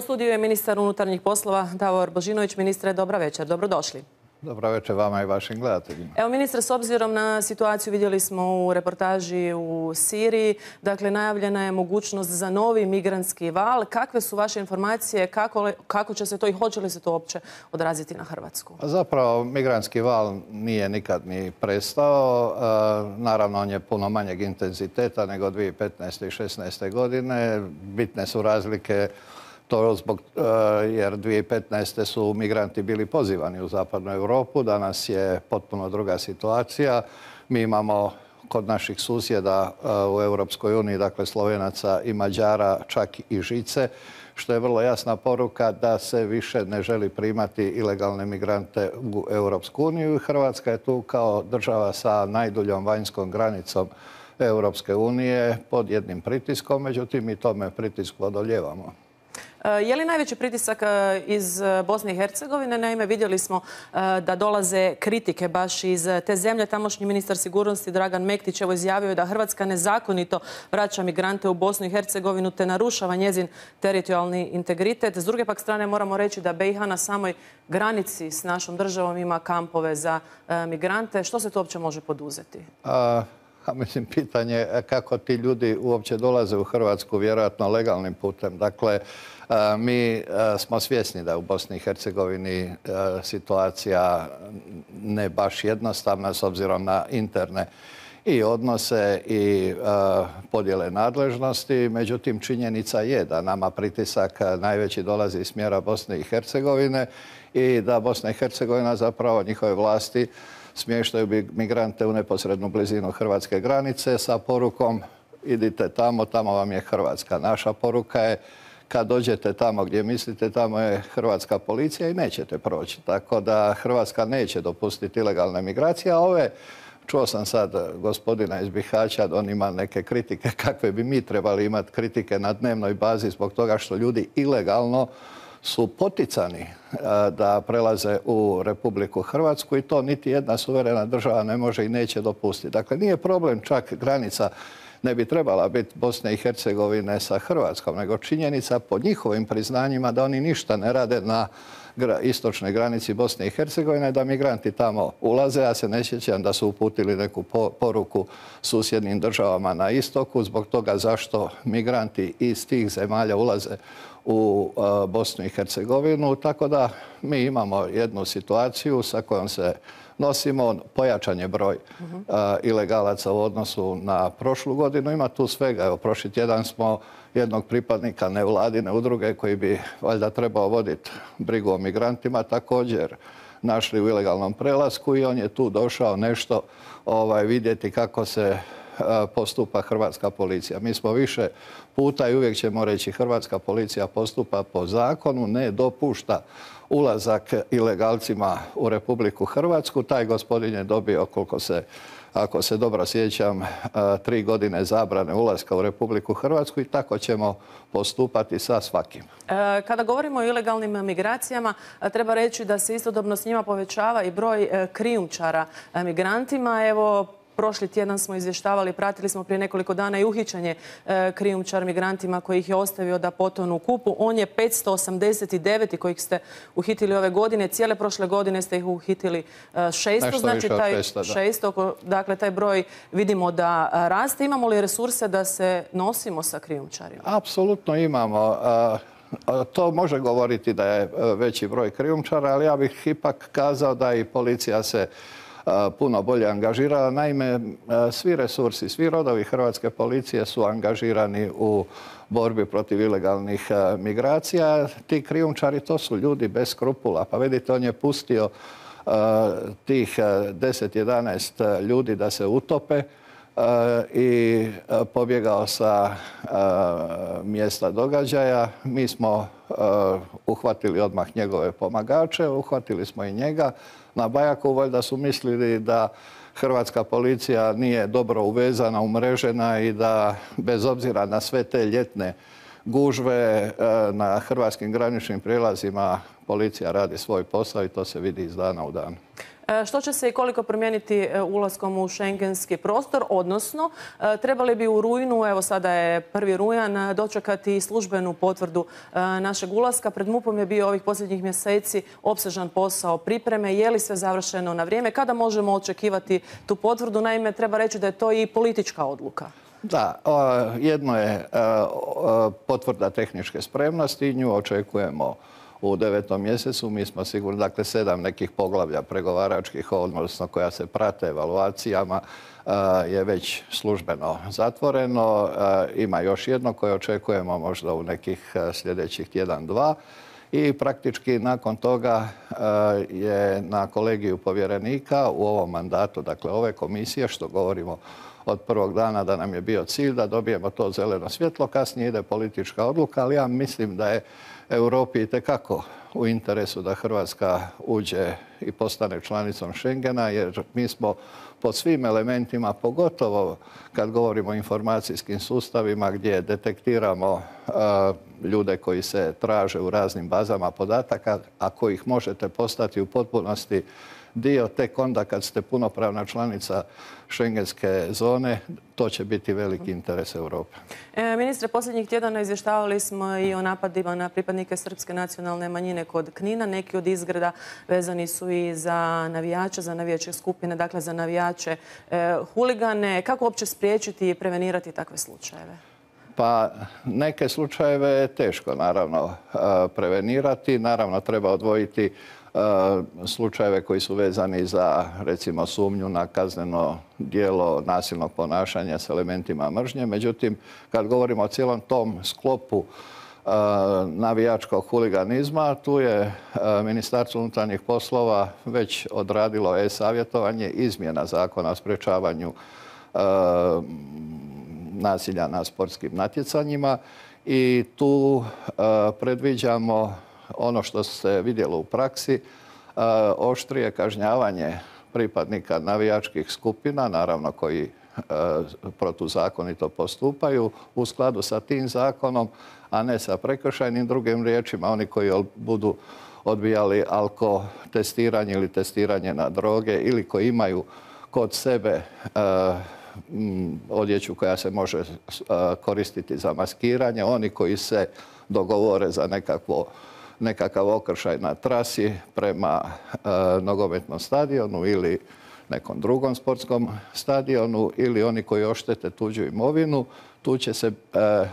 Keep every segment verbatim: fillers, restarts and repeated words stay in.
U studiju je ministar unutarnjih poslova Davor Božinović. Ministre, dobra večer. Dobrodošli. Dobra večer vama i vašim gledateljima. Evo, ministre, s obzirom na situaciju, vidjeli smo u reportaži u Siriji, dakle, najavljena je mogućnost za novi migrantski val. Kakve su vaše informacije, kako, kako će se to i hoće li se to uopće odraziti na Hrvatsku? Zapravo, migrantski val nije nikad ni prestao. Naravno, on je puno manjeg intenziteta nego dvije tisuće petnaeste i šesnaeste godine. Bitne su razlike to zbog, jer dvije tisuće petnaeste su migranti bili pozivani u zapadnu Europu. Danas je potpuno druga situacija. Mi imamo kod naših susjeda u Europskoj uniji, dakle Slovenaca i Mađara, čak i žice, što je vrlo jasna poruka da se više ne želi primati ilegalne migrante u Europsku uniju. Hrvatska je tu kao država sa najduljom vanjskom granicom Europske unije pod jednim pritiskom, međutim mi tome pritisku odoljevamo. Je li najveći pritisak iz Bosne i Hercegovine? Naime, vidjeli smo da dolaze kritike baš iz te zemlje. Tamošnji ministar sigurnosti Dragan Mektić evo izjavio da Hrvatska nezakonito vraća migrante u Bosnu i Hercegovinu te narušava njezin teritorijalni integritet. S druge pak strane moramo reći da be i ha na samoj granici s našom državom ima kampove za migrante. Što se to uopće može poduzeti? A... A mislim, pitanje kako ti ljudi uopće dolaze u Hrvatsku, vjerojatno legalnim putem. Dakle, mi smo svjesni da je u Bosni i Hercegovini situacija ne baš jednostavna s obzirom na interne i odnose i podjele nadležnosti. Međutim, činjenica je da nama pritisak najveći dolazi iz smjera Bosne i Hercegovine i da Bosna i Hercegovina, zapravo njihove vlasti, smještaju migrante u neposrednu blizinu hrvatske granice sa porukom idite tamo, tamo vam je Hrvatska. Naša poruka je kad dođete tamo gdje mislite, tamo je hrvatska policija i nećete proći. Tako da Hrvatska neće dopustiti ilegalne migracije, a ove, čuo sam sad gospodina iz Bihaća, da on ima neke kritike kakve bi mi trebali imati kritike na dnevnoj bazi zbog toga što ljudi ilegalno su poticani da prelaze u Republiku Hrvatsku i to niti jedna suverena država ne može i neće dopustiti. Dakle, nije problem čak granica, ne bi trebala biti Bosne i Hercegovine sa Hrvatskom, nego činjenica po njihovim priznanjima da oni ništa ne rade na istočnoj granici Bosne i Hercegovine, da migranti tamo ulaze. Ja se ne sjećam da su uputili neku poruku susjednim državama na istoku zbog toga zašto migranti iz tih zemalja ulaze u Bosnu i Hercegovinu. Tako da mi imamo jednu situaciju sa kojom se nosimo. Pojačan je broj ilegalaca u odnosu na prošlu godinu. Ima tu svega. Evo, prošli tjedan smo jednog pripadnika nevladine udruge koji bi valjda trebao voditi brigu o migrantima također našli u ilegalnom prelasku i on je tu došao nešto ovaj, vidjeti kako se postupa hrvatska policija. Mi smo više puta i uvijek ćemo reći hrvatska policija postupa po zakonu, ne dopušta ulazak ilegalcima u Republiku Hrvatsku. Taj gospodin je dobio, koliko se, ako se dobro sjećam, tri godine zabrane ulaska u Republiku Hrvatsku i tako ćemo postupati sa svakim. Kada govorimo o ilegalnim migracijama, treba reći da se istodobno s njima povećava i broj krijumčara migrantima. Evo, prošli tjedan smo izvještavali, pratili smo prije nekoliko dana i uhićenje e, krijumčar migrantima koji ih je ostavio da potonu u Kupu. On je petsto osamdeset devet kojih ste uhitili ove godine. Cijele prošle godine ste ih uhitili e, šesto. Znači taj petsto, šesto, dakle taj broj vidimo da raste. Imamo li resurse da se nosimo sa krijumčarima? Apsolutno imamo. To može govoriti da je veći broj krijumčara, ali ja bih ipak kazao da i policija se puno bolje angažirala. Naime, svi resursi, svi rodovi hrvatske policije su angažirani u borbi protiv ilegalnih migracija. Ti krijumčari, to su ljudi bez skrupula. Pa vidite, on je pustio tih deset jedanaest ljudi da se utope i pobjegao sa mjesta događaja. Mi smo uhvatili odmah njegove pomagače, uhvatili smo i njega. Na Bajaku valjda su mislili da hrvatska policija nije dobro uvezana, umrežena i da bez obzira na sve te ljetne gužve na hrvatskim graničnim prijelazima policija radi svoj posao i to se vidi iz dana u dan. Što će se i koliko promijeniti ulaskom u šengenski prostor, odnosno trebali bi u rujnu, evo sada je prvi rujan, dočekati službenu potvrdu našeg ulaska. Pred MUP-om je bio ovih posljednjih mjeseci opsežan posao pripreme. Je li sve završeno na vrijeme? Kada možemo očekivati tu potvrdu? Naime, treba reći da je to i politička odluka. Da, jedno je potvrda tehničke spremnosti, nju očekujemo u devetom mjesecu. Mi smo sigurni, dakle, sedam nekih poglavlja pregovaračkih, odnosno koja se prate evaluacijama, je već službeno zatvoreno. Ima još jedno koje očekujemo možda u nekih sljedećih tjedan, dva. I praktički nakon toga je na kolegiju povjerenika u ovom mandatu, dakle ove komisije, što govorimo od prvog dana da nam je bio cilj da dobijemo to zeleno svjetlo, kasnije ide politička odluka, ali ja mislim da je Europi itekako u interesu da Hrvatska uđe i postane članicom Schengena, jer mi smo po svim elementima, pogotovo kad govorimo o informacijskim sustavima gdje detektiramo uh, ljude koji se traže u raznim bazama podataka, a kojih možete postati u potpunosti dio tek onda kad ste punopravna članica šengenske zone, to će biti veliki interes Europe. E, ministre, posljednjih tjedana izvještavali smo i o napadima na pripadnike srpske nacionalne manjine kod Knina. Neki od izgreda vezani su i za navijače, za navijačke skupine, dakle za navijače e, huligane. Kako uopće spriječiti i prevenirati takve slučajeve? Pa neke slučajeve je teško, naravno, prevenirati. Naravno, treba odvojiti slučajeve koji su vezani za, recimo, sumnju na kazneno djelo nasilnog ponašanja s elementima mržnje. Međutim, kad govorimo o cijelom tom sklopu navijačkog huliganizma, tu je Ministarstvo unutarnjih poslova već odradilo e-savjetovanje izmjena Zakona o sprječavanju nasilja na sportskim natjecanjima i tu predviđamo ono što se vidjelo u praksi, oštrije kažnjavanje pripadnika navijačkih skupina, naravno koji protuzakonito postupaju u skladu sa tim zakonom, a ne sa prekršajnim. Drugim riječima, oni koji budu odbijali alkotestiranje ili testiranje na droge ili koji imaju kod sebe odjeću koja se može koristiti za maskiranje, oni koji se dogovore za nekakvo nekakav okršaj na trasi prema e, nogometnom stadionu ili nekom drugom sportskom stadionu ili oni koji oštete tuđu imovinu, tu će se e,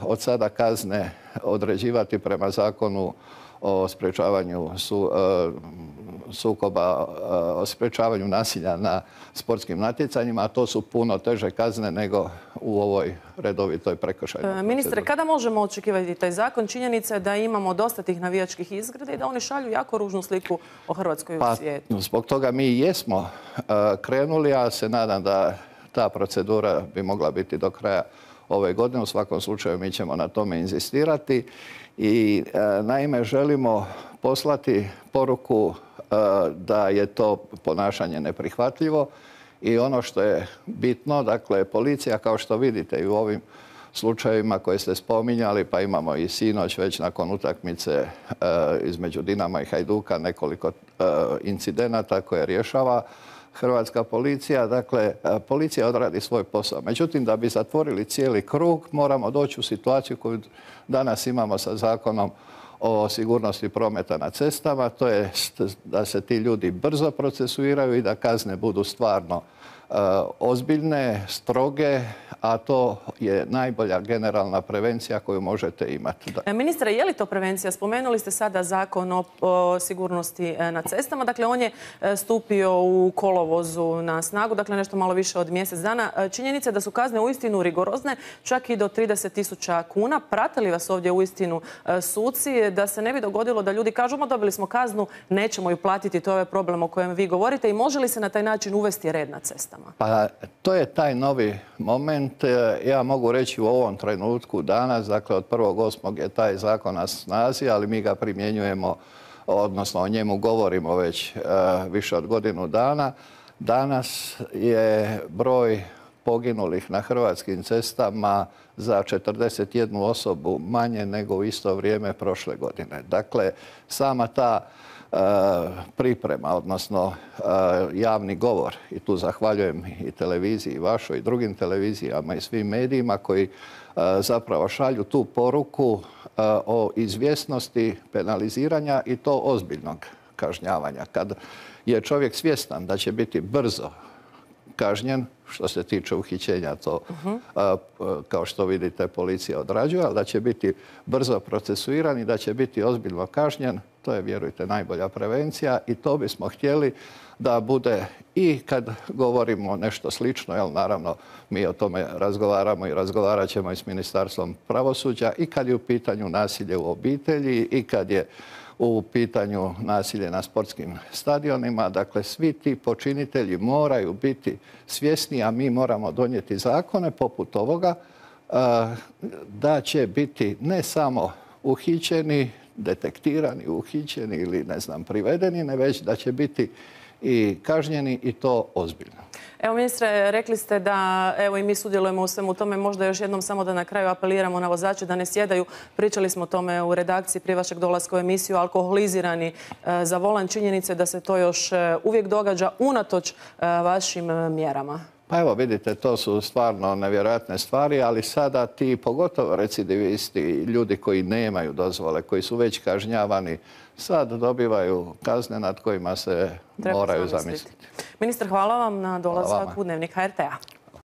od sada kazne određivati prema zakonu o sprječavanju su, e, sukoba, o sprječavanju nasilja na sportskim natjecanjima, a to su puno teže kazne nego u ovoj redovitoj prekršajnoj proceduri. Ministre, kada možemo očekivati taj zakon? Činjenica je da imamo dosta tih navijačkih izgrada i da oni šalju jako ružnu sliku o Hrvatskoj i u svijetu. Pa, zbog toga mi i jesmo uh, krenuli, a se nadam da ta procedura bi mogla biti do kraja ove godine. U svakom slučaju mi ćemo na tome inzistirati i uh, naime želimo poslati poruku da je to ponašanje neprihvatljivo i ono što je bitno, dakle, policija, kao što vidite i u ovim slučajevima koje ste spominjali, pa imamo i sinoć već nakon utakmice e, između Dinama i Hajduka nekoliko e, incidenata koje rješava hrvatska policija. Dakle, policija odradi svoj posao. Međutim, da bi zatvorili cijeli krug, moramo doći u situaciju koju danas imamo sa zakonom o sigurnosti prometa na cestama, to je da se ti ljudi brzo procesuiraju i da kazne budu stvarno uh, ozbiljne, stroge, a to je najbolja generalna prevencija koju možete imati. Da. Ministre, je li to prevencija? Spomenuli ste sada zakon o, o sigurnosti na cestama. Dakle, on je stupio u kolovozu na snagu, dakle nešto malo više od mjesec dana. Činjenica je da su kazne uistinu rigorozne, čak i do trideset tisuća kuna. Prate li vas ovdje uistinu suci da se ne bi dogodilo da ljudi kažu, dobili smo kaznu, nećemo ju platiti, to je problem o kojem vi govorite, i može li se na taj način uvesti red na cestama? Pa to je taj novi moment. Ja mogu reći u ovom trenutku danas, dakle od prvog osmog je taj zakon na snazi, ali mi ga primjenjujemo, odnosno o njemu govorimo već uh, više od godinu dana. Danas je broj poginulih na hrvatskim cestama za četrdeset jednu osobu manje nego u isto vrijeme prošle godine. Dakle, sama ta priprema, odnosno javni govor, i tu zahvaljujem i televiziji vašoj i drugim televizijama i svim medijima koji zapravo šalju tu poruku o izvjesnosti penaliziranja i to ozbiljnog kažnjavanja. Kad je čovjek svjestan da će biti brzo kažnjen, što se tiče uhićenja, to kao što vidite policija odrađuje, ali da će biti brzo procesuiran i da će biti ozbiljno kažnjen, to je, vjerujte, najbolja prevencija i to bismo htjeli da bude i kad govorimo nešto slično, jel, naravno mi o tome razgovaramo i razgovarat ćemo i s Ministarstvom pravosuđa, i kad je u pitanju nasilje u obitelji i kad je u pitanju nasilje na sportskim stadionima. Dakle, svi ti počinitelji moraju biti svjesni, a mi moramo donijeti zakone poput ovoga, da će biti ne samo uhićeni, detektirani, uhićeni ili, ne znam, privedeni, ne već da će biti i kažnjeni, i to ozbiljno. Evo, ministre, rekli ste da evo i mi sudjelujemo u svemu tome. Možda još jednom samo da na kraju apeliramo na vozače da ne sjedaju. Pričali smo o tome u redakciji prije vašeg dolaska u emisiju, alkoholizirani za volan. Činjenice da se to još uvijek događa unatoč vašim mjerama. Pa evo, vidite, to su stvarno nevjerojatne stvari, ali sada ti, pogotovo recidivisti, ljudi koji nemaju dozvole, koji su već kažnjavani, sad dobivaju kazne nad kojima se moraju zamisliti. Ministar, hvala vam na dolazak u Dnevnik H R T A.